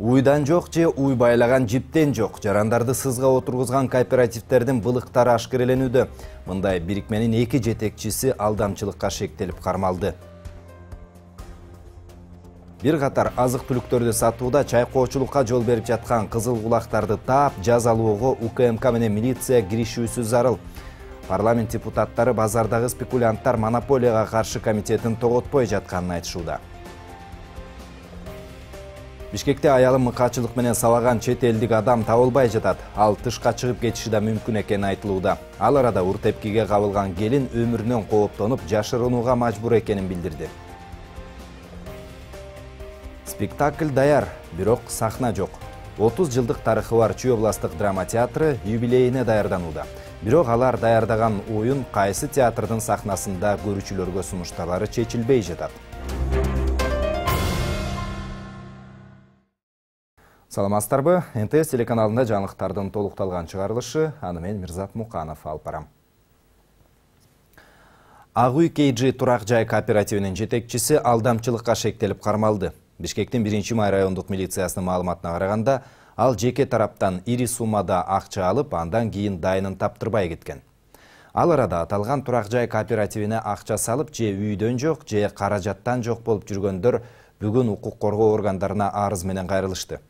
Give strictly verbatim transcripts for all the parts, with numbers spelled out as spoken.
Уйдан жок же уй байлаган жиптен жок. Жарандарды сызга отургузган кооперативтердин былыктары ашкереленүүдө. Мындай бирикменин эки жетекчиси алдамчылыкка шектелип кармалды. Бир катар азык-түлүктөрдү сатууда чайкоочулукка жол берип жаткан кызыл кулактарды таап, жазалоого УКМК менен милиция киришүүсү зарыл. Парламент депутаттары базардагы спекулянттар монополияга каршы комитетин тоготпой жатканын айтышууда. Бишкекте аялын мыкаачылык менен сабаган чет элдик адам табылбай жатат. Ал тышка чыгып кетиши да мүмкүн экени айтылууда. Ал арада уртепкиге кабылган келин өмүрүнөн кооптонуп, жашырынууга мажбур экенин билдирди. Спектакль даяр, бирок сахна жок. отуз жылдык тарыхы бар Чүй областык драма театры юбилейине даярданууда. Бирок алар даярдаган оюн кайсы театрдын сахнасында көрүүчүлөргө сунушталары чечилбей жатат. Саламатсыздарбы? эн тэ эс телеканалында жаңылыктардын толукталган чыгарылышы, аны мен Мирзат Муканов алып барам. Ак үй кей джи турак жай кооперативинин жетекчиси алдамчылыкка шектелип кармалды. Бишкектин биринчи май райондук милициясынын маалыматына караганда, ал жеке тараптан ири суммада акча алып, андан кийин дайынын таптырбай кеткен. Ал арада аталган турак жай кооперативине акча салып, же үйдөн жок, же каражаттан жок болуп жүргөндөр бүгүн укук коргоо органдарына арыз менен кайрылышты.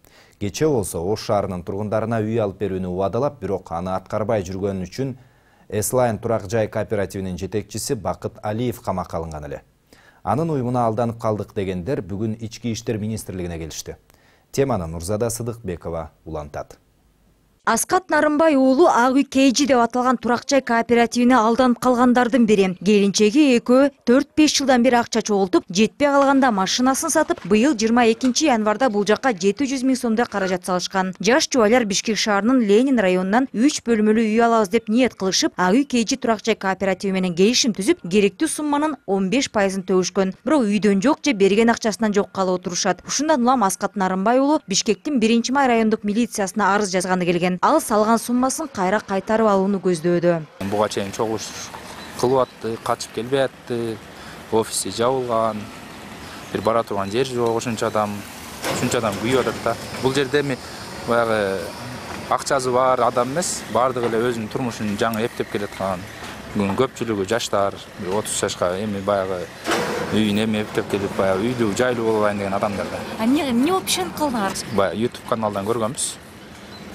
Кече болсо Ош шаарынын тургундарына үй алып берүүнү убадалап, бирок аны аткарбай жүргөнү үчүн Эслайн турак жай кооперативинин жетекчиси Бакыт Алиев камакка алынган эле. Анын уюмуна алданып калдык дегендер бүгүн Ички иштер министрлигине келишти. Теманы Нурзада Сыдыкбекова улантат. Аскат Нарымбай уулу Ак үй кей джи деп аталган турак жай кооперативине алданып калгандардын бири. Келинчеги экөө төрт беш жылдан бери акча чогултуп, жетпей калганда машинасын сатып, быйыл жыйырма экинчи январда бул жакка жети жүз миң сомдой каражат салышкан. Жаш жубайлар Бишкек шаарынын Ленин районунан үч бөлмөлүү үй алабыз деп ниет кылышып, Ак үй кей джи турак жай кооперативи менен келишим түзүп, керектүү сумманын он беш пайызын төгүшкөн. Бирок үйдөн жок же берген акчасынан жок калып отурушат. Ушундан улам Аскат Нарымбай уулу Бишкектин биринчи май райондук милициясына арыз жазганы келген. Ал салган суммасын кайра кайтарып алууну көздөөдө. Буга чейин чогуш кылып атты, качып келбей атты, офиси жабылган, бир бара турган жер жок, ошончо адам, ушунча адам күйүп атат да. Бул жерде эми баягы акчасы бар адам эмес, бардыгы эле өзүнүн турмушун жаңы эптеп келаткан. Бүгүн көпчүлүгү жаштар, отуз жашка эми баягы үйүн эми эптеп келип, баягы үйлүү, жайлуу боло алайын деген адамдар да. А эмне эмне болуп ишенип калдыңар? Баягы YouTube каналдан көргөнбүз.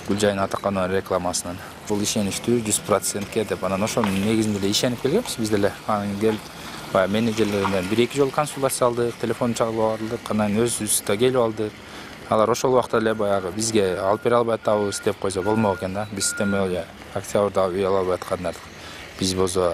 Гүлжайдын атаканын рекламасынан. Бул ишеничтүү жүз процентке деп, анан ошонун негизинде эле ишенип келгенбиз биз деле. Анан келип, баягы менеджерлерден бир эки жолу консультация алдык, телефон чалып алдык, анан өзүбүз да келип алдык. Алар ошол убакта эле баягы бизге алып бере албай атабыз деп койсо болмок экен да. Биз теме октябрда үй ала албай аткандар. Биз болсо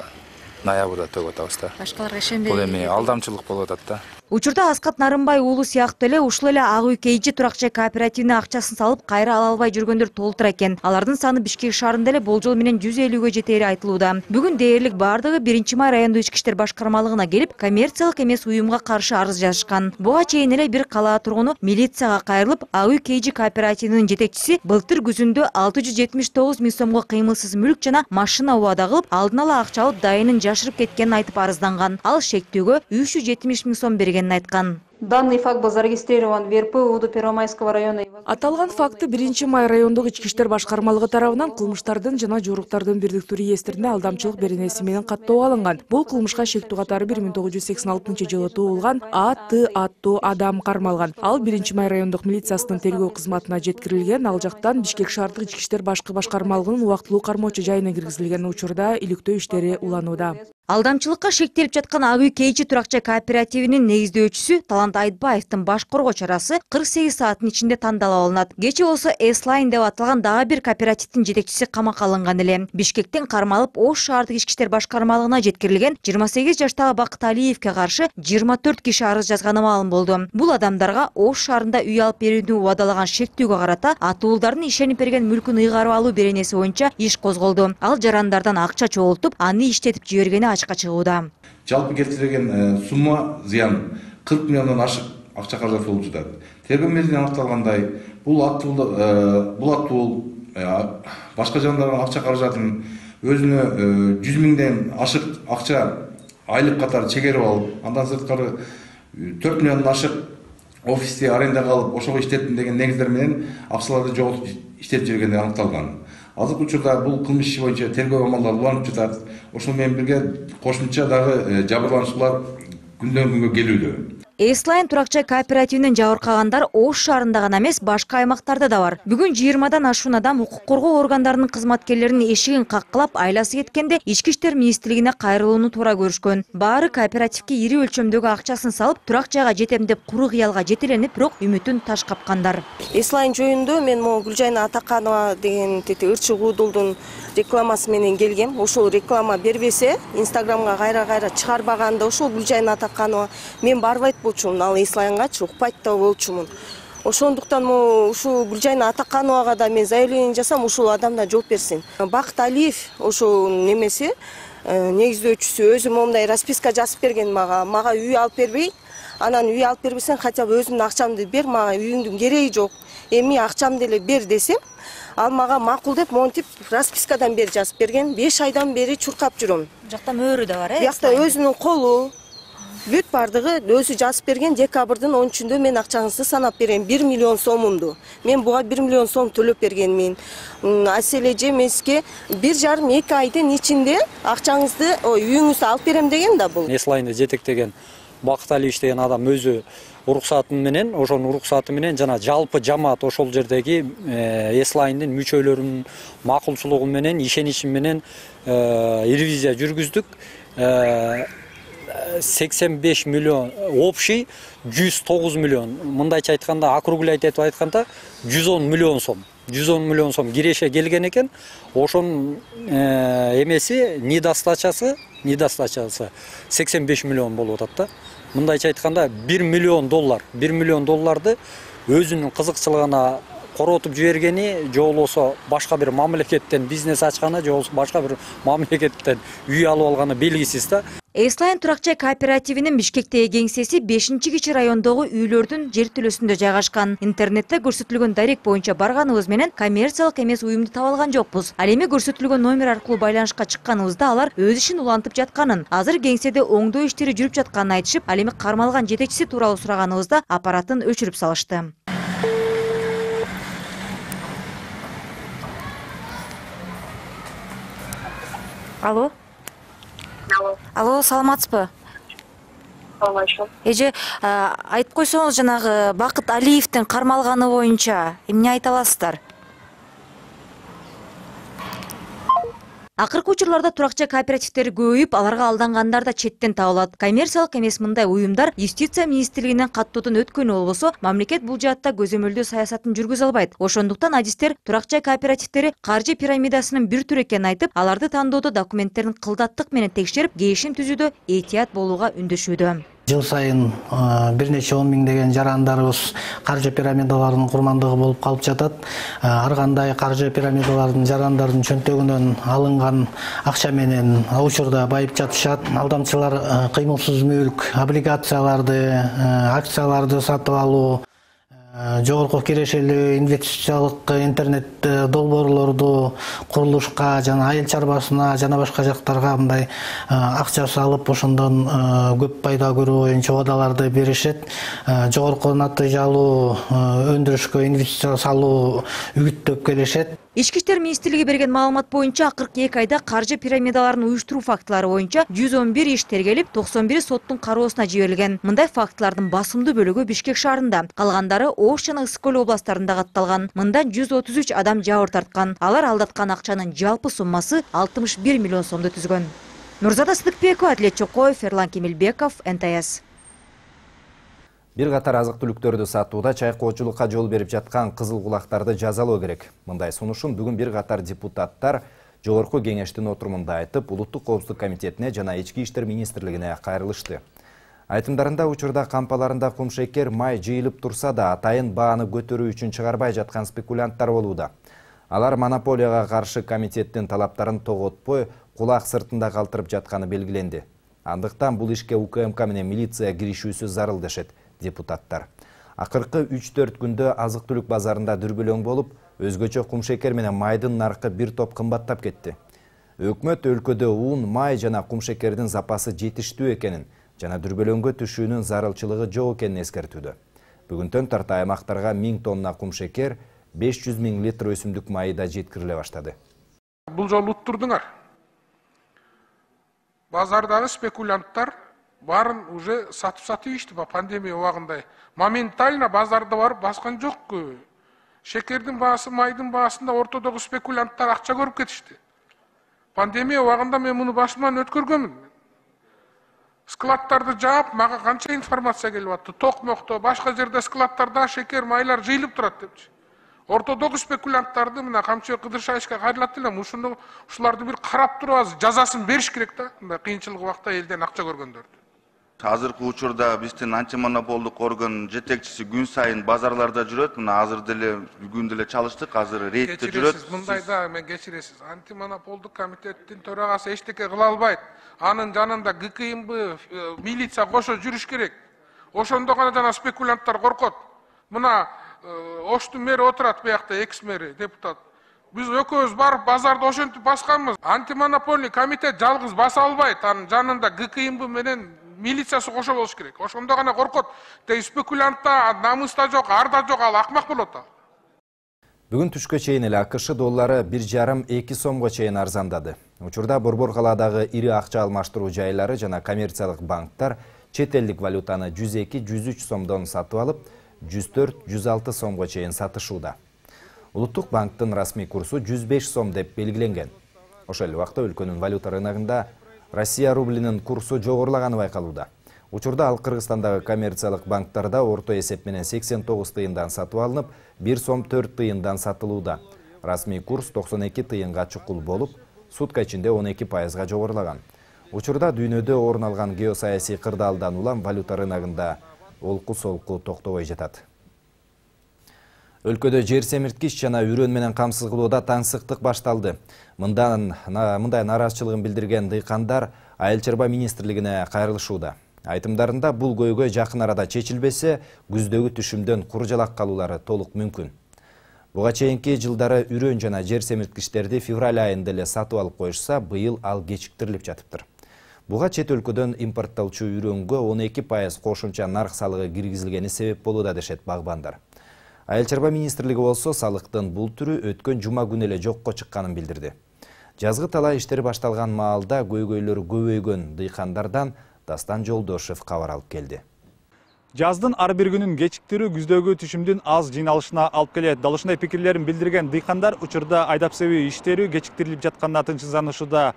ноябрда төгүп атабыз да. Башкаларга ишенбей. Бул эми алдамчылык болуп атат да. Учурда Аскат Нарымбай уулу сыяктуу эле ушул эле Ак үй кей джи турак жай кооперативине акчасын салып, кайра ала албай жүргөндөр толтура экен. Алардын саны Бишкек шаарында эле болжол менен жүз элүүгө жетери айтылууда. Бүгүн дээрлик бардыгы биринчи май райондук ички иштер башкармалыгына келип, коммерциялык эмес уюмга каршы арыз жазышкан. Буга чейин эле бир калаа тургуну милицияга кайрылып, Ак үй кей джи кооперативинин жетекчиси былтыр күзүндө алты жүз жетимиш тогуз миң сомго кыймылсыз мүлк жана машина убада кылып, алдын ала акча алып, дайынын жашырып кеткенин айтып арызданган. Ал шектүүгө үч жүз жетимиш миң сом бергенин айткан. Данный факт был зарегистрирован в эр пэ УД Первомайского района. Аталган факты биринчи май райондук ички иштер башкармалыгы тарабынан кылмыштардын жана жоруктардын бирдиктүү реестрине алдамчылык беренеси менен каттоого алынган. Бул кылмышка шектүү катары бир миң тогуз жүз сексен алтынчы жылы туулган А Т аттуу адам кармалган. Ал биринчи май райондук милициясынын тергөө кызматына жеткирилген. Ал жактан Бишкек шаардык ички иштер башкы башкармалыгынын убактылуу кармоочу жайына киргизилген учурда иликтөө иштери уланууда. Алдамчылыкка шектелип жаткан Ак үй кей джи турак жай кооперативинин негиздөөчүсү Талант Айтбаевдин баш коргоо чарасы кырк сегиз сааттын ичинде тандалып алынат. Кече болсо Эслайн деп аталган дагы бир кооперативдин жетекчиси камакка алынган эле. Бишкектен кармалып Ош шаардык ички иштер башкармалыгына жеткирилген жыйырма сегиз жаштагы Бакыт Алиевке каршы жыйырма төрт киши арыз жазганы маалым болду. Бул адамдарга Ош шаарында үй алып берүүнү убадалаган шектүүгө карата атуулдардын ишенип берген мүлкүн ыйгарып алуу беренеси боюнча иш козголду. Ал жарандардан акча чогултуп, аны иштетип жибергени ачыкка чыгууда. Жалпы келтирилген сумма зыян кырк миллиондон ашык акча каражат болуп жатат. Тергөө мезгилинде аныкталгандай, бул аттуу бул аттуу башка жандардын акча каражатын өзүнө жүз миңден ашык акча айлык катары чегерип алып, андан сырткары төрт миллиондон ашык офисте арендага алып ошого иштеттим деген негиздер менен акчаларды жоготуп иштетип жүргени аныкталган. Азыркы учурда бул кылмыш иши боюнча тергөө амалдары уланып жатат. Ошол менен бирге кошумча дагы жабырлануучулар күндөн күнгө келүүдө. Эслайн турак жай кооперативинен жабыркагандар Ош шаарында гана эмес, башка аймактарда да бар. Бүгүн жыйырмадан ашуун адам укук коргоо органдарынын кызматкерлеринин эшигин каккылап, айласы кеткенде Ички иштер министрлигине кайрылууну туура көрүшкөн. Баары кооперативге ири өлчөмдөгү акчасын салып, турак жайга жетем деп куру кыялга жетеленип, бирок үмүтүн таш капкандар. Эслайн жөнүндө мен могу Гүлжайна Атаканова деген ырчы куудулдун рекламасы менен келгем. Ошол реклама бербесе, Инстаграмга кайра-кайра чыгарбаганда ошол Гүлжайна Атаканова мен барбайт болчумун, ал Эслайнгачы укпайт да болчумун. Ошондуктан ушул Гүлжайна Атакановага да мен заявление жасам, ушул адам да жооп берсин. Бакыт Алиев ошол немеси негиздөөчүсү өзү момундай расписка жазып берген мага. Мага үй алып бербей, анан үй алып бербесең хотя бы өзүмдүн акчамды бер, мага үйүңдүн кереги жок. Эми акчамды эле бер десем, ал мага макул деп монтип распискадан бери жазып берген. беш айдан бери чуркап жүрөм. Жакта мөөрү да бар, э? Жакта өзүнүн колу, бүт бардыгы өзү жазып берген. Декабрдын он үчүндө мен акчаңызды санап берем, бир миллион сомумду. Мен буга бир миллион сом төлөп бергенмин. Аселе жемеске бир жарым эки айдын ичинде акчаңызды, үйүңүздү алып берем деген да бул. Эслайнды жетектеген Бакыт Алиев деген адам өзү уруксаты менен, ошонун уруксаты менен жана жалпы жамаат ошол жердеги Эслайндын мүчөлөрүнүн макулчулугу менен, ишеничи менен ревизия жүргүздүк. сексен беш миллион, общий жүз тогуз миллион. Мындайча айтканда, округляйтып айтканда жүз он миллион сом. жүз он миллион сом киреше келген экен. Ошонун эмеси недостачасы, недостачасы сексен беш миллион болуп атат да. Мындайча айтканда бир миллион доллар, бир миллион долларды өзүнүн кызыкчылыгына коротуп жибергени, же болбосо башка бир мамлекеттен бизнес ачканы, же болбосо башка бир мамлекеттен үй алып алганы белгисиз да. Эслайн турак жай кооперативинин Бишкектеги кеңсеси бешинчи кичи райондогу үйлөрдүн жер төлөсүндө жайгашкан. Интернетте көрсөтүлгөн дарек боюнча барганыбыз менен коммерциялык эмес уюмду таба алган жокпуз. Ал эми көрсөтүлгөн номер аркылуу байланышка чыкканыбызда алар өз ишин улантып жатканын, азыр кеңседе оңдоо иштери жүрүп жатканын айтышып, ал эми кармалган жетекчиси тууралуу сураганыбызда аппаратын өчүрүп салышты. Алло. Алло, саламатсызбы? Саламатчылык. Эже, айтып койсоңуз, жанагы Бакыт Алиевдин кармалганы боюнча эмне айта аласыздар? Акыркы учурларда турак жай кооперативдери көбөйүп, аларга алдангандар да четтен табылат. Коммерциялык эмес мындай уюмдар Юстиция министрлигинен каттоодон өткөнү болбосо, мамлекет бул жаатта көзөмөлдөө саясатын жүргүзө албайт. Ошондуктан адистер турак жай кооперативдери каржы пирамидасынын бир түрү экенин айтып, аларды тандоодо документтерин кылдаттык менен текшерип, келишим түзүүдө эhtiyat болууга үндөшүүдө. Жыл сайын бир нече он миңдеген жарандарыбыз каржы пирамидаларынын курмандыгы болуп калып жатат. Ар кандай каржы пирамидаларынын жарандардын чөнтөгүнөн алынган акча менен учурда байып жатышат. Алдамчылар кыймылсыз мүлк, облигацияларды, акцияларды сатып алуу, жогорку кирешелүү инвестициялык интернет долбоорлорду курулушка жана айыл чарбасына жана башка жактарга мындай акча салып, ошондон көп пайда көрүү боюнча убадаларды беришет. Жогорку натыйжалуу өндүрүшкө инвестиция салуу үгүттөп келишет. Ички иштер министрлиги берген маалымат боюнча акыркы эки айда каржы пирамидаларын уюштуруу фактылары боюнча жүз он бир иш тергелип, токсон бири соттун кароосуна жиберилген. Мындай фактылардын басымдуу бөлүгү Бишкек шаарында, калгандары Ош жана Ысык-Көл областарында катталган. Мында жүз отуз үч адам жабыр тарткан. Алар алдаткан акчанын жалпы суммасы алтымыш бир миллион сомду түзгөн. Нурзада Сыдыкбекова, Адлет Чокоев, Эрлан Кемелбеков, эн тэ эс. Бир катар азык-түлүктөрдү сатууда чайкоочулукка жол берип жаткан кызыл кулактарды жазалоо керек. Мындай сунушун бүгүн бир катар депутаттар Жогорку кеңештин отурумунда айтып, Улуттук коопсуздук комитетине жана Ички иштер министрлигине кайрылышты. Айтымдарында учурда кампаларында кумшекер май жыйылып турса да, атайын бааны көтөрүү үчүн чыгарбай жаткан спекулянттар болууда. Алар монополияга каршы комитеттин талаптарын тоготпой, кулак сыртында калтырып жатканы белгиленди. Андыктан бул ишке У К М К менен милиция киришүүсү зарыл дешет депутаттар. Акыркы үч төрт күндө азык-түлүк базарында дүрбөлөң болуп, өзгөчө кумшекер менен майдын наркы бир топ кымбаттап кетти. Өкмөт өлкөдө ун, май жана кумшекердин запасы жетиштүү экенин жана дүрбөлөңгө түшүүнүн зарылчылыгы жок экенин эскертүүдө. Бүгүнтөн тарта аймактарга миң тонна кум шекер, беш жүз миң литр өсүмдүк майы да жеткириле баштады. Бул жолу уттурдуңар. Базардагы спекулянттар барын уже сатып сатып ишти пандемия убагында. Моментально базарда барып баскан жок. Шекердин баасы, майдын баасында ортодогу спекулянттар акча көрүп кетишти. Пандемия убагында мен муну башыман өткөргөнмүн. Складтарды жаап, мага канча информация келип атты. Токмокто, башка жерде складтарда шекер, майлар жыйылып турат депчи. Ортодогу спекулянттарды мына камчы кыдыршайышка кайрылат элем. Ушуну ушуларды бир карап туруп азыр жазасын бериш керек да. Мындай кыйынчылык убакта элден акча көргөндөрдү. Азыркы учурда биздин антимонополдук орган жетекчиси күн сайын базарларда жүрөт. Мына азыр деле бүгүн деле чалыштык, азыр рейдте жүрөт. Мындайда мен кечиресиз. Антимонополдук комитеттин төрагасы эчтеке кыла албайт. Анын жанында гэ ка эм бэ, милиция кошо жүрүш керек. Ошондо гана жана спекулянттар коркот. Мына Оштун мэри отурат буякта, экс мэри, депутат. Биз экөөбүз барып базарды ошентип басканбыз. Антимонопольный комитет жалгыз баса албайт. Анын жанында гэ ка эм бэ менен милициясы кошо болуш керек. Ошондо гана коркот. Тей спекулянтта, намыста жок, арда жок, ал акмак болот ал. Бүгүн түшкө чейин эле АКШ доллары бир жарым эки сомго чейин арзандады. Учурда Борбор калаадагы ири акча алмаштыруу жайлары жана коммерциялык банктар чет элдик валютаны жүз эки жүз үч сомдон сатып алып, жүз төрт жүз алты сомго чейин сатышууда. Улуттук банктын расмий курсу жүз беш сом деп белгиленген. Ошол эле убакта өлкөнүн валюта рыногунда Россия рублинин курсу жогорулаганы байкалууда. Учурда ал Кыргызстандагы коммерциялык банктарда орто эсеп менен сексен тогуз тыйындан сатып алынып, бир сом төрт тыйындан сатылууда. Расмий курс токсон эки тыйынга чукул болуп, сутка ичинде он эки пайызга жогорулаган. Учурда дүйнөдө орун алган геосаясий кырдаалдан улам валюта рыногунда олку-солку токтобой жатат. Өлкөдө жер семирткич жана үрөн менен камсыз кылууда таңсыктык башталды. Мындан мындай нараазычылыгын билдирген дыйкандар Айыл чарба министрлигине кайрылышууда. Айтымдарында бул көйгөй жакын арада чечилбесе, күздөгү түшүмдөн куржалак калуулары толук мүмкүн. Буга чейинки жылдары үрөн жана жер семирткичтерди февраль айында эле сатып алып коюшса, быйыл ал кечиктирилип жатыптыр. Буга чет өлкөдөн импорттолчу үрөнгө он эки пайыз кошумча нарк салыгы киргизилгени себеп болууда дешет багбандар. Айыл чарба министрлиги болсо салыктын бул түрү өткөн жума күнү эле жокко чыкканын билдирди. Жазгы талаа иштери башталган маалда көйгөйлөр көбөйгөн дыйкандардан Дастан Жолдошев кабар алып келди. Жаздын ар бир күнүн кечиктирүү күздөгү түшүмдүн аз жыйналышына алып келет. Дал ушундай пикирлерин билдирген дыйкандар учурда айдап себүү иштери кечиктирилип жатканына тынчсызданышууда.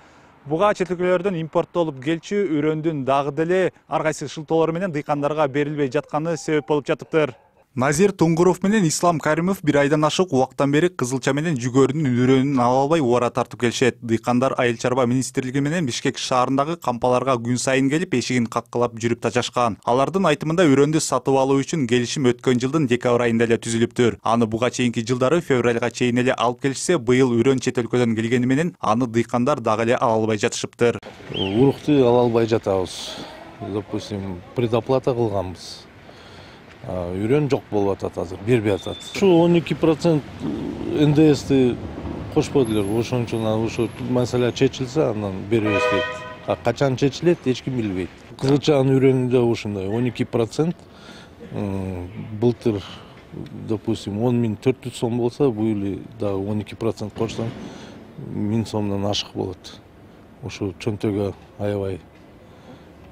Буга чет өлкөлөрдөн импорттолуп келчү үрөндүн дагы деле ар кайсы шылтоолору менен дыйкандарга берилбей жатканы себеп болуп жатыптыр. Назир Туңгуров менен Ислам Каримов бир айдан ашык убактан бери кызылча менен жүгөрүнүн үрөнүн ала албай убара тартып келишет. Дыйкандар Айыл чарба министрлиги менен Бишкек шаарындагы кампаларга күн сайын келип эшигин каккылап жүрүп тажашкан. Алардын айтымында үрөндү сатып алуу үчүн келишим өткөн жылдын декабрь айында эле түзүлүптүр. Аны буга чейинки жылдары февралга чейин эле алып келишсе, быйыл үрөн чет өлкөдөн келгени менен аны дыйкандар дагы эле ала албай жатышыптыр. Урукту ала албай жатабыз. Допустим, предоплата кылганбыз. Үрөн жок болуп атат азыр, бербей атат. Ушу он эки процент эн дэ эсти кошподулар. Ошон үчүн ушу маселе чечилсе, андан беребиз дейт. А качан чечилет, эч ким билбейт. Кызылчанын үрөнүндө ушундай он эки процент. Былтыр, допустим, он миң төрт жүз сом болса, быйыл дагы он эки процент кошсоң миң сомдон ашык болот. Ушу чөнтөгө аябай.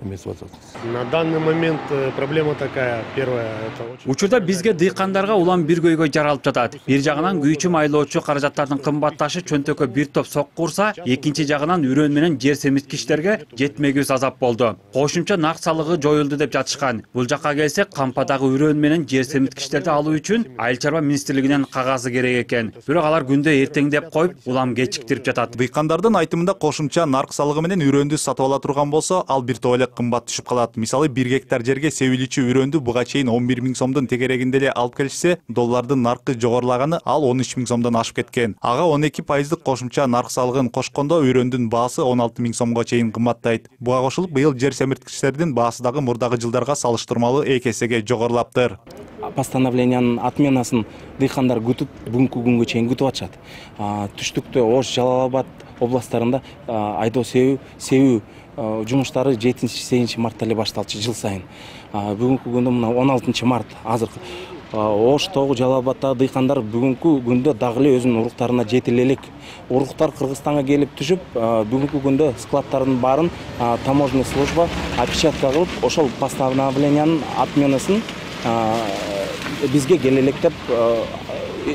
На данный момент проблема такая. Первая это очень... Учурда бизге дыйкандарга улам бир көйгөй жаралып жатат. Бир жагынан күйчү майлоочу каражаттардын кымбатташы чөнтөккө бир топ сокку урса, экинчи жагынан үрөн менен жер семирткичтерге жетмегүс азап болду. Кошумча нарк салыгы жоюлду деп жатышкан. Бул жакка келсек, кампадагы үрөн менен жер семирткичтерди алуу үчүн Айыл чарба министрлигинен кагазы керек экен. Бирок алар күндө эртеңдеп коюп, улам кечиктирип жатат. Дыйкандардын айтымында кошумча нарк салыгы менен үрөндү сатып ала турган болсо, ал бир топ эле кымбат түшүп калат. Мисалы, бир гектар жерге себиличи үрөндү буга чейин он бир миң сомдун тегерегинде эле алып келишсе, доллардын наркы жогорулаганы ал он үч миң сомдон ашып кеткен. Ага он эки пайыздык кошумча нарк салыгын кошкондо үрөндүн баасы он алты миң сомго чейин кымбаттайт. Буга кошулуп, быйыл жер семирткичтердин баасы дагы мурдагы жылдарга салыштырмалуу эки эсеге жогорулаптыр. Постановлениянын отменасын дыйкандар күтүп, бүгүнкү күнгө чейин күтүп атышат. Түштүктө Ош, Жалал Абад, областтарында айдоо себүү себүү жумуштары жетинчи сегизинчи мартта эле башталчу жыл сайын. Бүгүнкү күндө мына он алтынчы март азыр Оштогу, Жалал Абадтагы дыйкандар бүгүнкү күндө дагы эле өзүнүн уруктарына жетиле элек. Уруктар Кыргызстанга келип түшүп, бүгүнкү күндө складдардын баарын таможенный служба опечатка кылып, ошол постановлениянын отменасын бизге келе элек деп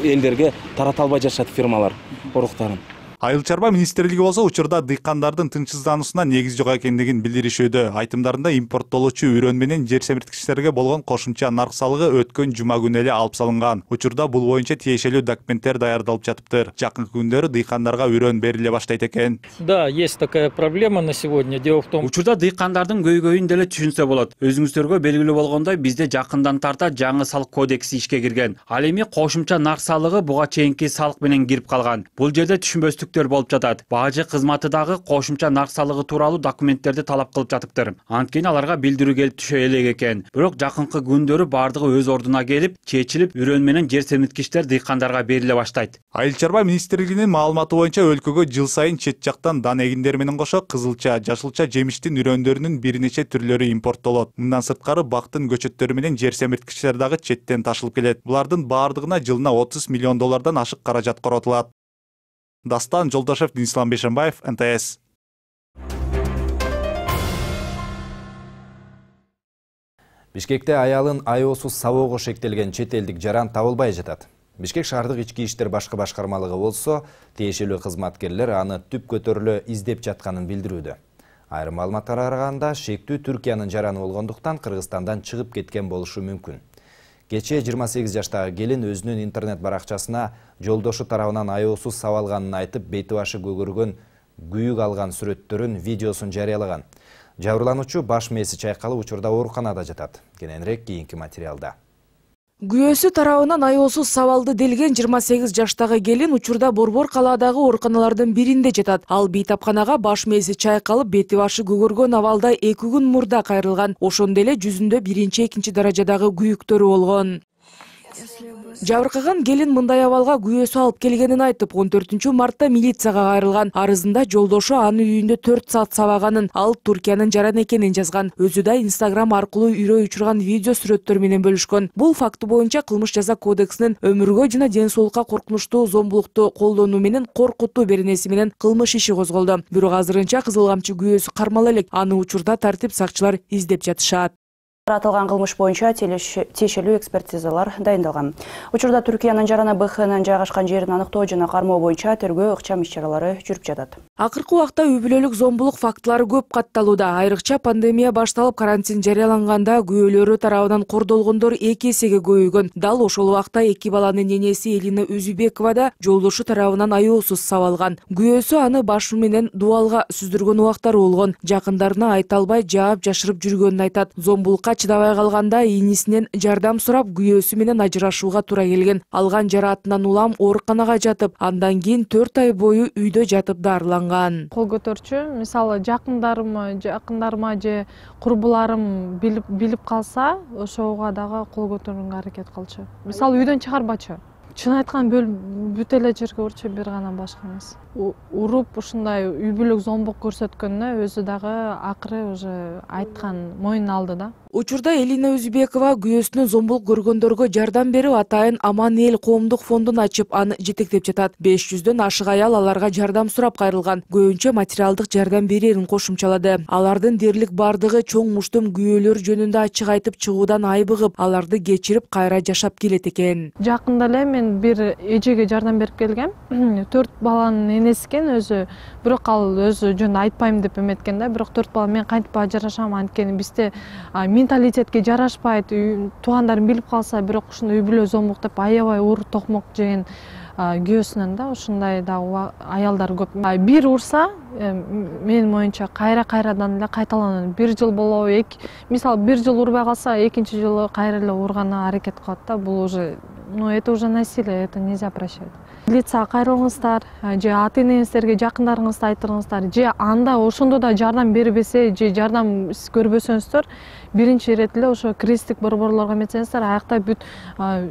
элдерге тарата албай жашат фирмалар уруктарын. Айыл чарба министрлиги болсо учурда дыйкандардын тынчсыздануусуна негиз жок экендигин билдиришүүдө. Айтымдарында импорттолуучу үрөн менен жер семирткичтерге болгон кошумча нарк салыгы өткөн жума күнү эле алып салынган. Учурда бул боюнча тиешелүү документтер даярдалып жатыптыр. Жакынкы күндөрү дыйкандарга үрөн бериле баштайт экен. Да, есть такая проблема на сегодня. Дело в том, учурда дыйкандардын көйгөйүн деле түшүнсө болот. Өзүңүздөргө белгилүү болгондой, бизде жакындан тарта жаңы салык кодекси ишке кирген. Ал эми кошумча нарк салыгы буга чейинки салык менен кирип калган. Бул жерде түшүнбөстүк болуп жатат. Бажы кызматы дагы кошумча нарк салыгы тууралуу документтерди талап кылып жатыптыр. Анткени аларга билдирүү келип түшө элек экен. Бирок жакынкы күндөрү бардыгы өз ордуна келип, чечилип, үрөн менен жер семирткичтер дыйкандарга бериле баштайт. Айыл чарба министрлигинин маалыматы боюнча өлкөгө жыл сайын чет жактан дан эгиндер менен кошо кызылча, жашылча жемиштин үрөндөрүнүн бир нече түрлөрү импорттолот. Мындан сырткары бактын көчөттөрү менен жер семирткичтер дагы четтен ташылып келет. Булардын баардыгына жылына отуз миллион доллардан ашык каражат коротулат. Дастан Жолдошев, Денислам Бейшенбаев, эн тэ эс. Бишкекте аялын айоосуз сабоого шектелген чет элдик жаран табылбай жатат. Бишкек шаардык ички иштер башкы башкармалыгы болсо, тиешелүү кызматкерлер аны түп көтөрүлө издеп жатканын билдирүүдө. Айрым маалыматтарга караганда, шектүү Түркиянын жараны болгондуктан Кыргызстандан чыгып кеткен болушу мүмкүн. Кечээ жыйырма сегиз жаштагы келин өзүнүн интернет баракчасына жолдошу тарабынан айоосуз сабалганын айтып, бети башы көгөргөн, күйүк алган сүрөттөрүн, видеосун жарыялаган. Жабырлануучу баш мээси чайкалып учурда ооруканада жатат. Кененирээк кийинки материалда. Күйөөсү тарабынан айоосуз сабалды делген жыйырма сегиз жаштагы келин учурда Борбор калаадагы ооруканалардын биринде жатат. Ал бейтапканага баш мээси чайкалып, бети башы көгөргөн абалда эки күн мурда кайрылган. Ошондой эле жүзүндө биринчи, экинчи даражадагы күйүктөрү болгон. Жабыркаган келин мындай абалга күйөөсү алып келгенин айтып, он төртүнчү мартта милицияга кайрылган. Арызында жолдошу аны үйүндө төрт саат сабаганын, ал Түркиянын жаран экенин жазган. Өзү да Инстаграм аркылуу үйрөй учурган видео сүрөттөр менен бөлүшкөн. Бул факты боюнча Кылмыш жаза кодексинин өмүргө жана ден соолукка коркунучтуу зомбулукту колдонуу менен коркутуу беренеси менен кылмыш иши козголду. Бирок азырынча Кызыл камчы күйөөсү кармала элек. Аны учурда тартип сакчылар издеп жатышат. Аталган кылмыш боюнча тиешелүү экспертизалар дайындалган. Учурда Түркиянын жараны Бэ Х'нын жайгашкан жерин аныктоо жана кармоо боюнча тергөө ыкчам иш-чаралары жүрүп жатат. Акыркы убакта үй бүлөлүк зомбулук фактылары көп катталууда. Айрыкча пандемия башталып, карантин жарыяланганда күйөөлөрү тарабынан кордолгондор эки эсеге көбөйгөн. Дал ошол убакта эки баланын энеси Элина Өзүбекова да жолдошу тарабынан айоосуз сабалган. Күйөөсү аны башы менен дубалга сүздүргөн убактары болгон. Жакындарына айта албай жаап жашырып жүргөнүн айтат. Зомбулукка чыдабай калганда инисинен жардам сурап, күйөөсү менен ажырашууга туура келген. Алган жараатынан улам ооруканага жатып, андан кийин төрт ай бою үйдө жатып дарыланган. Кол көтөрчү, мисалы жакындарыма, жакындарыма же курбуларым билип билип калса, ошого дагы кол көтөрүүгө аракет кылчу. Мисалы үйдөн чыгарбачу. Чын айткан бүт эле жерге урчу, бир гана башка эмес. Уруп ушундай үй бүлөлүк зомбулук көрсөткөнүнө өзү дагы акыры уже айткан, мойнуна алды да. Учурда Элина Өзүбекова күйөөсүнүн зомбулук көргөндөргө жардам берип, атайын Аман эл коомдук фондун ачып, аны жетектеп жатат. беш жүздөн ашык аял аларга жардам сурап кайрылган. Көбүнчө материалдык жардам берерин кошумчалады. Алардын дерлик бардыгы чоң муштум күйөөлөр жөнүндө ачык айтып чыгуудан айбыгып, аларды кечирип кайра жашап келет экен. Жакында эле мен бир эжеге жардам берип келгем. Төрт баланын энеси экен өзү, бирок ал өзү жөн айтпайм деп эметкен да. Бирок төрт бала мен кантип ажырашам, анткени бизде менталитетке жарашпайт, туугандарым билип калса, бирок ушундай үй бүлө зомбулук деп аябай уур токмок жеген күйөөсүнөн да ушундай да аялдар көп. Бир урса, менин моюнча кайра-кайрадан эле кайталанат. Бир жыл болобу, эки, мисалы бир жыл урбай калса, экинчи жылы кайра эле урганга аракет кылат да. Бул уже, ну это уже насилие, это нельзя прощать. Милицияга кайрылыңыздар, же ата энеңиздерге, жакындарыңызды айтырыңыздар, же анда ошондо да жардам бербесе, же жардам көрбөсөңүздөр, биринчи ирет эле ошо кризистик борборлорго эметсеңиздер, аякта бүт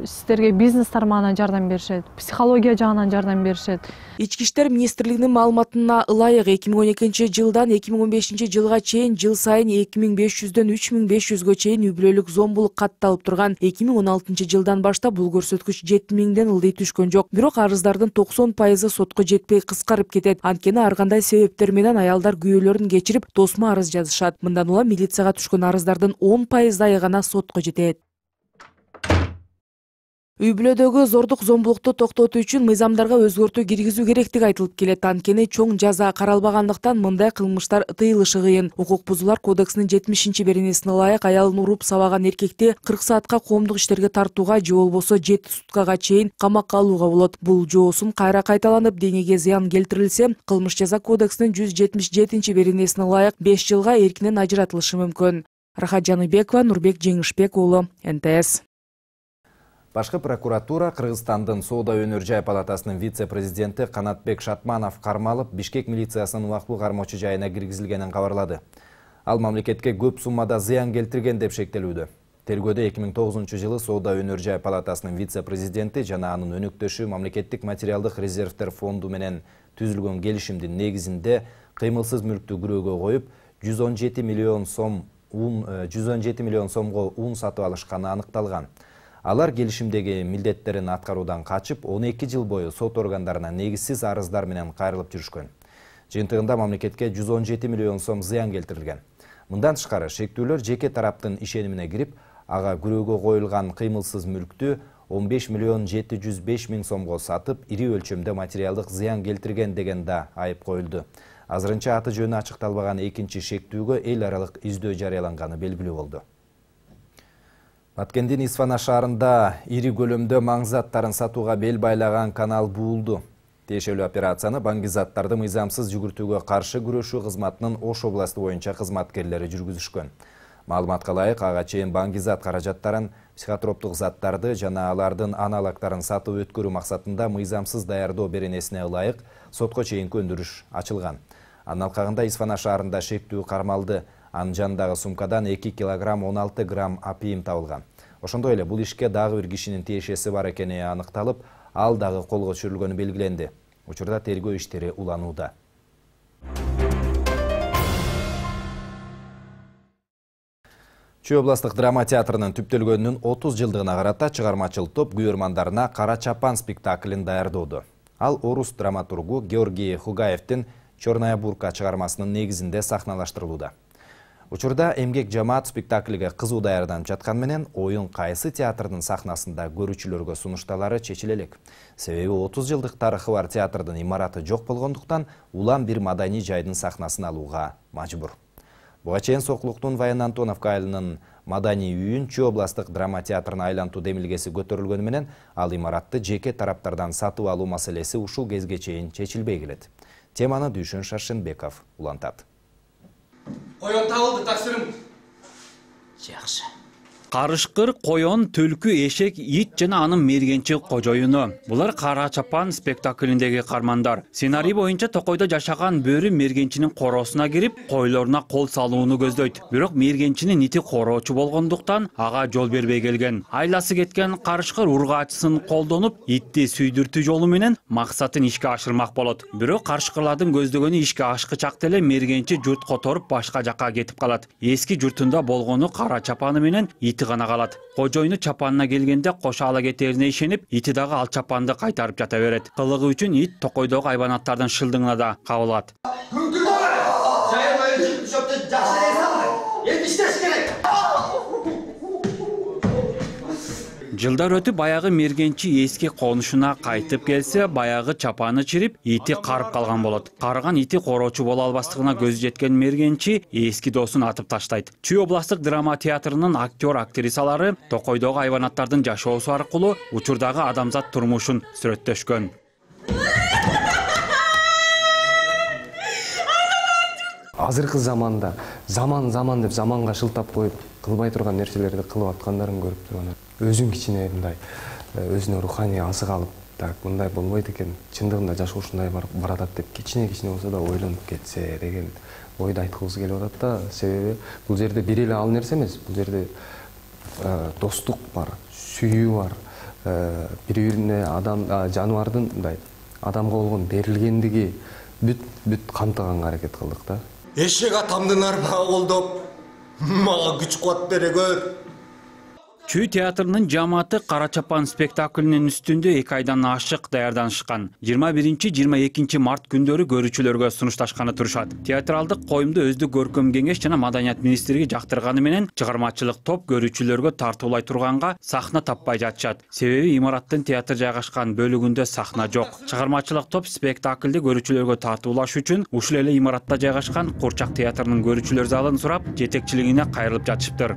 сиздерге бизнес тармагынан жардам беришет, психология жагынан жардам беришет. Ички иштер министрлигинин маалыматына ылайык эки миң он экинчи жылдан эки миң он бешинчи жылга чейин жыл сайын эки миң беш жүздөн үч миң беш жүзгө чейин үй бүлөлүк зомбулук катталып турган. эки миң он алтынчы жылдан баштап бул көрсөткүч жети миңден ылдый түшкөн жок. Бирок арыздардын токсон пайызы сотко жетпей кыскарып кетет. Анткени ар кандай себептер менен аялдар күйөөлөрүн кечирип тосмо арыз жазышат. Мындан улам милицияга түшкөн арыздардын он пайыздайы гана сотко жетет. Үй бүлөдөгү зордук зомбулукту токтотуу үчүн мыйзамдарга өзгөртүү киргизүү керектиги айтылып келет. Анткени чоң жаза каралбагандыктан мындай кылмыштар тыйылышы кыйын. Укук бузуулар кодексинин жетимишинчи беренесине ылайык аялын уруп сабаган эркекти кырк саатка коомдук иштерге тартууга же болбосо жети суткага чейин камакка алууга болот. Бул жоосун кайра кайталанып, денеге зыян келтирилсе, кылмыш жаза кодексинин жүз жетимиш жетинчи беренесине ылайык беш жылга эркинен ажыратылышы мүмкүн. Рахат Жаныбекова, Нурбек Жеңишбек уулу, эн тэ эс. Башкы прокуратура Кыргызстандын Соода өнөр жай палатасынын вице-президенти Канатбек Шатманов кармалып, Бишкек милициясынын убактылуу кармоочу жайына киргизилгенин кабарлады. Ал мамлекетке көп суммада зыян келтирген деп шектелүүдө. Тергөөдө эки миң тогузунчу жылы Соода өнөр жай палатасынын вице-президенти жана анын өнөктөшү мамлекеттик материалдык резервдер фонду менен түзүлгөн келишимдин негизинде кыймылсыз мүлктү күрөөгө коюп, жүз он жети миллион сом жүз он жети миллион сомго ун сатып алышканы аныкталган. Алар келишимдеги милдеттерин аткаруудан качып, он эки жыл бою сот органдарына негизсиз арыздар менен кайрылып жүрүшкөн. Жыйынтыгында мамлекетке жүз он жети миллион сом зыян келтирилген. Мындан тышкары шектүүлөр жеке тараптын ишенимине кирип, ага күрөөгө коюлган кыймылсыз мүлктү он беш миллион жети жүз беш миң сомго сатып, ири өлчөмдө материалдык зыян келтирген деген да айып коюлду. Азырынча аты жөнү ачыкталбаган экинчи шектүүгө эл аралык издөө жарыяланганы белгилүү болду. Баткендин Исфана шаарында ири көлөмдө маңзаттарын сатууга бел байлаган канал буулду. Тиешелүү операцияны баңгизаттарды мыйзамсыз жүгүртүүгө каршы күрөшүү кызматынын Ош областы боюнча кызматкерлери жүргүзүшкөн. Маалыматка ылайык, ага чейин баңгизат каражаттарын, психотроптук заттарды жана алардын аналогдорун сатып өткөрүү максатында мыйзамсыз даярдоо беренесине ылайык сотко чейинки өндүрүш ачылган. Анын алкагында Исфана шаарында шектүү кармалды. Анын жанындагы сумкадан эки килограмм он алты грамм апийим табылган. Ошондой эле бул ишке дагы бир кишинин тиешеси бар экени аныкталып, ал дагы колго түшүрүлгөнү белгиленди. Учурда тергөө иштери уланууда. Чүй областык драма театрынын түптөлгөнүнүн отуз жылдыгына карата чыгармачыл топ күйөрмандарына Кара чапан спектаклин даярдоодо. Ал орус драматургу Георгий Хугаевдин Чорная бурка чыгармасынын негизинде сахналаштырылууда. Учурда эмгек жамаат спектакльге кызуу даярданып жаткан менен оюн кайсы театрдын сахнасында көрүүчүлөргө сунушталары чечиле элек. Себеби отуз жылдык тарыхы бар театрдын имараты жок болгондуктан улам бир маданий жайдын сахнасын алууга мажбур. Буга чейин Сокулуктун Ваян Антоновка айылынын маданий үйүн Чүй областык драма театрына айлантуу демилгеси көтөрүлгөнү менен ал имаратты жеке тараптардан сатып алуу маселеси ушул кезге чейин чечилбей келет. Теманы Дүйшөн Шаршенбеков улантат. Коён табылды, тапшырым. Жакшы. Карышкыр, коён, түлкү, эшек, ит жана анын мергенчи кожоюну. Булар Кара чапан спектаклиндеги кармандар. Сценарий боюнча Токойдо жашаган бөрү мергенчинин коросуна кирип, койлоруна кол салууну көздөйт. Бирок мергенчинин ити короочу болгондуктан ага жол бербей келген. Айласы кеткен карышкыр ургаачысын колдонуп, итти сүйдүртүү жолу менен максатын ишке ашырмак болот. Бирок карышкырлардын көздөгөнү ишке ашкычак эле мергенчи журт которуп башка жакка кетип калат. Эски журтунда болгону Кара чапаны менен ити гана калат. Кожоюну чапанына келгенде кошо ала кетерине ишенип, ити дагы ал чапанды кайтарып жата берет. Кылыгы үчүн ит Токойдогу айбанаттардын шылдыгына да кабылат. Жылдар өтүп баягы мергенчи эски конушуна кайтып келсе, баягы чапаны чирип, ити карып калган болот. Карыган ити короочу боло албастыгына көзү жеткен мергенчи эски досун атып таштайт. Чүй областык драма театрынын актер актрисалары Токойдогу айбанаттардын жашоосу аркылуу учурдагы адамзат турмушун сүрөттөшкөн. Азыркы заманда заман заман деп заманга шылтап коюп кылбай турган нерселерди кылып аткандарын көрүп турган. Өзүн кичине мындай өзүнө руханий азык алып так мындай болбойт экен, чындыгында жашоо ушундай баратат деп кичине кичине болсо да ойлонуп кетсе деген ойду айткыбыз келип атат да. Себеби бул жерде бир эле ал нерсе эмес, бул жерде достук бар, сүйүү бар, бири-бирине адам жаныбардын мындай адамга болгон берилгендиги бүт бүт камтыганга аракет кылдык да. Эшек атамдын арбага колдоп, мага күч кубат бере көр. Чүй театрынын жамааты Кара чапан спектаклинин үстүндө эки айдан ашык даярданышкан. жыйырма биринчи жыйырма экинчи март күндөрү көрүүчүлөргө сунушташканы турушат. Театралдык коюмду өздүк көркөм кеңеш жана маданият министрлиги жактырганы менен чыгармачылык топ көрүүчүлөргө тартуулай турганга сахна таппай жатышат. Себеби имараттын театр жайгашкан бөлүгүндө сахна жок. Чыгармачылык топ спектаклди көрүүчүлөргө тартуулаш үчүн ушул эле имаратта жайгашкан Курчак театрынын көрүүчүлөр залын сурап, жетекчилигине кайрылып жатышыптыр.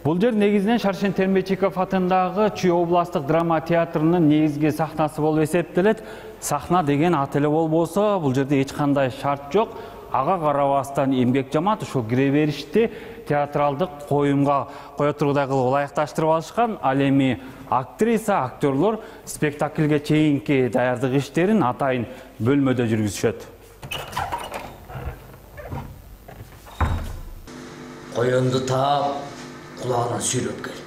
Бул жер негизинен Шаршен Термечиков атындагы Чүй областык драма театрынын негизги сахнасы болуп эсептелет. Сахна деген ат эле болбосо, бул жерде эч кандай шарт жок. Ага карабастан эмгек жамаат ушул кире беришти театралдык коюмга кое тургудай кылып ылайыкташтырып алышкан. Ал эми актриса, актерлор спектакльге чейинки даярдык иштерин атайын бөлмөдө жүргүзүшөт. Коюнду таап кулагына сүйлөп кел.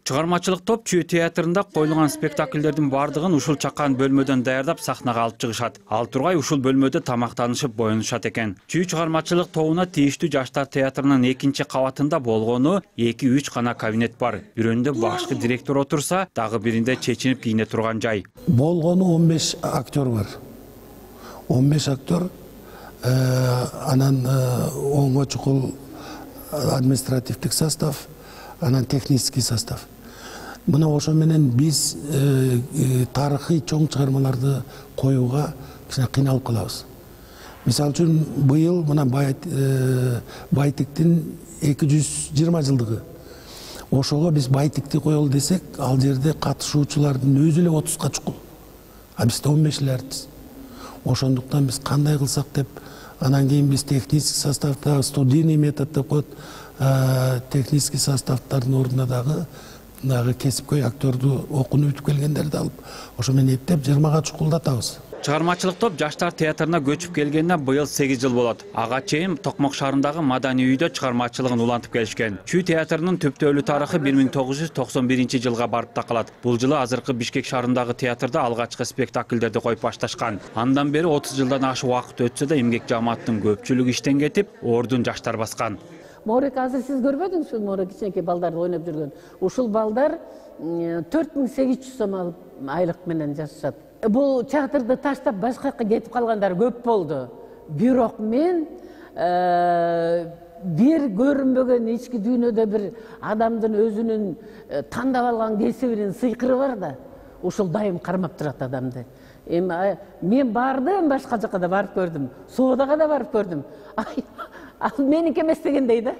Чыгармачылык топ Чүй театрында коюлган спектакльдердин бардыгын ушул чакан бөлмөдөн даярдап сахнага алып чыгышат. Ал тургай ушул бөлмөдө тамактанышып боюнушат экен. Чүй чыгармачылык тобуна тийиштүү жаштар театрынын экинчи кабатында болгону эки үч гана кабинет бар. Бирөөндө башкы директор отурса, дагы биринде чечинип кийине турган жай. Болгону он беш актер бар. он беш актер, анан оңго чукул административдик состав, анан технический состав. Мына ошо менен биз тарыхый чоң чыгармаларды коюуга кичине кыйналып калабыз. Мисалы үчүн быйыл мына Байтиктин эки жүз жыйырма жылдыгы. Ошого биз Байтикти коелу десек, ал жерде катышуучулардын өзү эле отузга чукул. А бизде он беш эле артист. Ошондуктан биз кандай кылсак деп, анан кийин биз технический составда, студийный метод деп коет, технический составдардын ордуна дагы дагы кесипкөй актерду окууну бүтүп келгендерди алып, ошо менен эптеп жыйырмага чукулдатабыз. Чыгармачылык топ жаштар театрына көчүп келгенине быйыл сегиз жыл болот. Ага чейин Токмок шаарындагы маданий үйдө чыгармачылыгын улантып келишкен. Чүй театрынын түптөлүү тарыхы бир миң тогуз жүз токсон биринчи жылга барып такалат. Бул жылы азыркы Бишкек шаарындагы театрда алгачкы спектакльдерди коюп башташкан. Андан бери отуз жылдан ашык убакыт өтсө да эмгек жамааттын көпчүлүгү иштен кетип, ордун жаштар баскан. Морек азыр сиз көрбөдүңүзбү, ушул Морек кичинекей балдарды ойноп жүргөн. Ушул балдар төрт миң сегиз жүз сом алып айлык менен жашашат. Бул театрды таштап башка жака кетип калгандар көп болду. Бирок мен бир көрүнбөгөн ички дүйнөдө бир адамдын өзүнүн тандап алган кесибинин сыйкыры бар да. Ушул дайым кармап турат адамды. Эми мен бардым, башка жака да барып көрдүм. Соодага да барып көрдүм. Ал меники эмес дегендей да.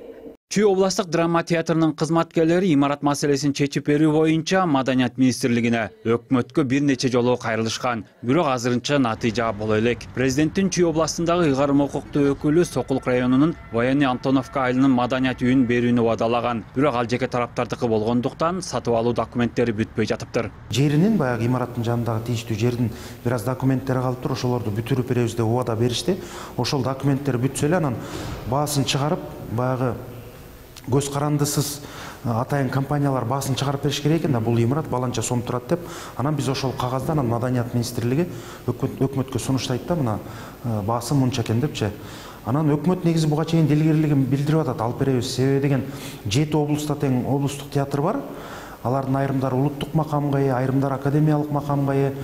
Чүй областык драма театрынын кызматкерлери имарат маселесин чечип берүү боюнча маданият министрлигине, өкмөткө бир нече жолу кайрылышкан. Бирок азырынча натыйжа боло элек. Президенттин Чүй областындагы ыйгарым укуктуу өкүлү Сокулук районунун Военный Антоновка айылынын маданият үйүн берүүнү убадалаган. Бирок ал жеке тараптардыкы болгондуктан сатып алуу документтери бүтпөй жатыптыр. Жеринин баягы имараттын жанындагы тийиштүү жердин бир аз документтери калыптыр, ошолорду бүтүрүп беребиз деп убада беришти. Ошол документтер бүтсө эле анан баасын чыгарып, баягы көз карандысыз атайын компаниялар баасын чыгарып бериш керек экен да, бул имарат баланча сом турат деп, анан биз ошол кагазды анан маданият министрлиги өкмөткө сунуштайт да, мына баасы мынча экен депчи. Анан өкмөт негизи буга чейин дилгерлигин билдирип атат, алып беребиз. Себеби деген жети облуста тең облустук театр бар. Алардын айрымдары улуттук макамга ээ, айрымдары академиялык макамга ээ.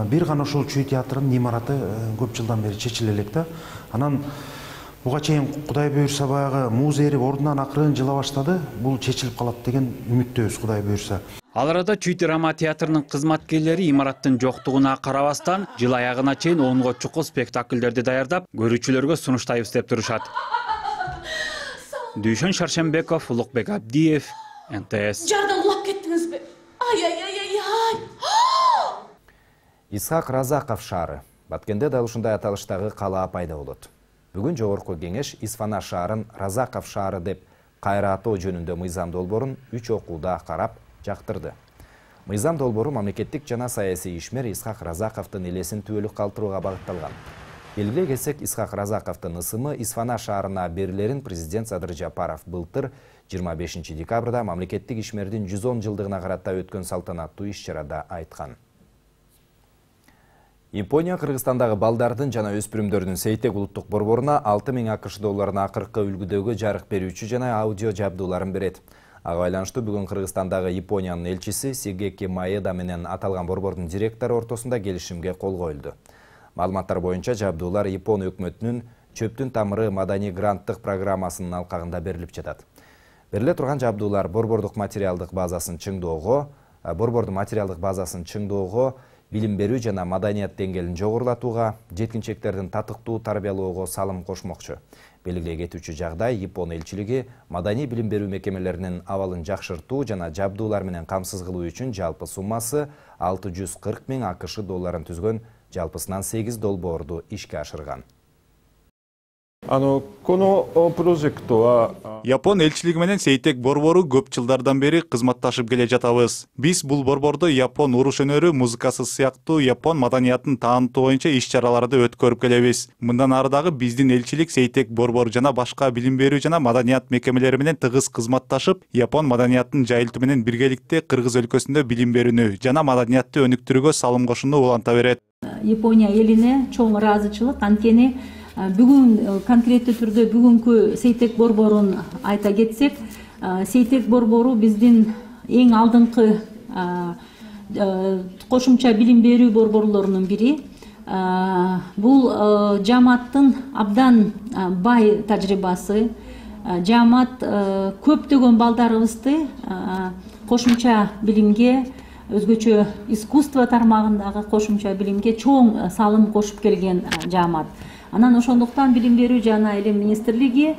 Бир гана ошол Чүй театрынын имараты көп жылдан бери чечиле элек да. Анан буга чейин Кудай буйрса баягы муз эрип ордунан акырын жыла баштады. Бул чечилип калат деген үмүттөбүз, Кудай буйрса. Ал арада Чүй драма театрынын кызматкерлери имараттын жоктугуна карабастан жыл аягына чейин онго чукул спектакльдерди даярдап, көрүүчүлөргө сунуштайбыз деп турушат. Дүйшөн Шаршенбеков, Улукбек Абдиев, эн тэ эс. Жардан улап кеттиңизби? Ай ай ай ай ай. Исхак Разаков шаары. Баткенде дал ушундай аталыштагы калаа пайда болот. Бүгүн жогорку кеңеш Исфана шаарын Разаков шаары деп кайра атоо жөнүндө мыйзам долбоорун үч окууда карап жактырды. Мыйзам долбоору мамлекеттик жана саясий ишмер Исхак Разаковдун элесин түбөлүк калтырууга багытталган. Белгилей кетсек, Исхак Разаковдун ысымы Исфана шаарына берилерин президент Садыр Жапаров былтыр жыйырма бешинчи декабрда мамлекеттик ишмердин жүз он жылдыгына карата өткөн салтанаттуу иш-чарада айткан. Япония Кыргызстандагы балдардын жана өспүрүмдөрдүн Сейтек улуттук борборуна алты миң акш долларына акыркы үлгүдөгү жарык берүүчү жана аудио жабдууларын берет. Ага байланыштуу бүгүн Кыргызстандагы Япониянын элчиси Сигеки Маэда менен аталган борбордун директору ортосунда келишимге кол коюлду. Маалыматтар боюнча жабдуулар Япон өкмөтүнүн Чөптүн тамыры маданий гранттык программасынын алкагында берилип жатат. Бериле турган жабдуулар борбордук материалдык базасын чыңдоого, борбордун материалдык базасын чыңдоого, билим берүү жана маданият деңгээлин жогорулатууга, жеткинчектердин татыктуу тарбиялоого салым кошмокчу. Белгилей кетүүчү жагдай Япон элчилиги маданий билим берүү мекемелеринин абалын жакшыртуу жана жабдуулар менен камсыз кылуу үчүн жалпы суммасы алты жүз кырк миң акш долларын түзгөн жалпысынан сегиз долбоорду ишке ашырган. Япон элчилиги менен Сейтек борбору көп жылдардан бери кызматташып келе жатабыз. Биз бул борбордо Япон уруш өнөрү, музыкасы сыяктуу Япон маданиятын таанытуу боюнча иш-чараларды өткөрүп келебиз. Мындан ары дагы биздин элчилик Сейтек борбору жана башка билим берүү жана маданият мекемелери менен тыгыз кызматташып, Япон маданиятын жайылтуу менен биргеликте Кыргыз өлкөсүндө билим берүүнү жана маданиятты өнүктүрүүгө салым кошууну уланта берет. Япония элине чоң ыраазычылык, анткени бүгүн конкреттүү түрдө бүгүнкү Сейтек борборун айта кетсек, Сейтек борбору биздин эң алдыңкы кошумча билим берүү борборлорунун бири. Бул жааматтын абдан бай тажрыйбасы, жаамат көптөгөн балдарыбызды кошумча билимге, өзгөчө искусство тармагындагы кошумча билимге чоң салым кошуп келген жаамат. Анан ошондуктан билим берүү жана илим министрлиги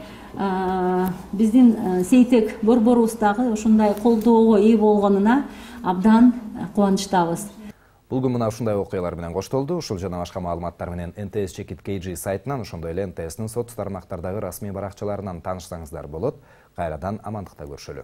биздин Сейтек борборубуздагы ушундай колдоого ээ болгонуна абдан кубанычтабыз. Бул күн мына ушундай окуялар менен коштолду. Ушул жана башка маалыматтар менен эн тэ эс чекит кей джи сайтынан, ошондой эле эн тэ эстин соц тармактардагы расмий баракчаларынан таанышсаңыздар болот. Кайрадан амандыкта көрүшөлү.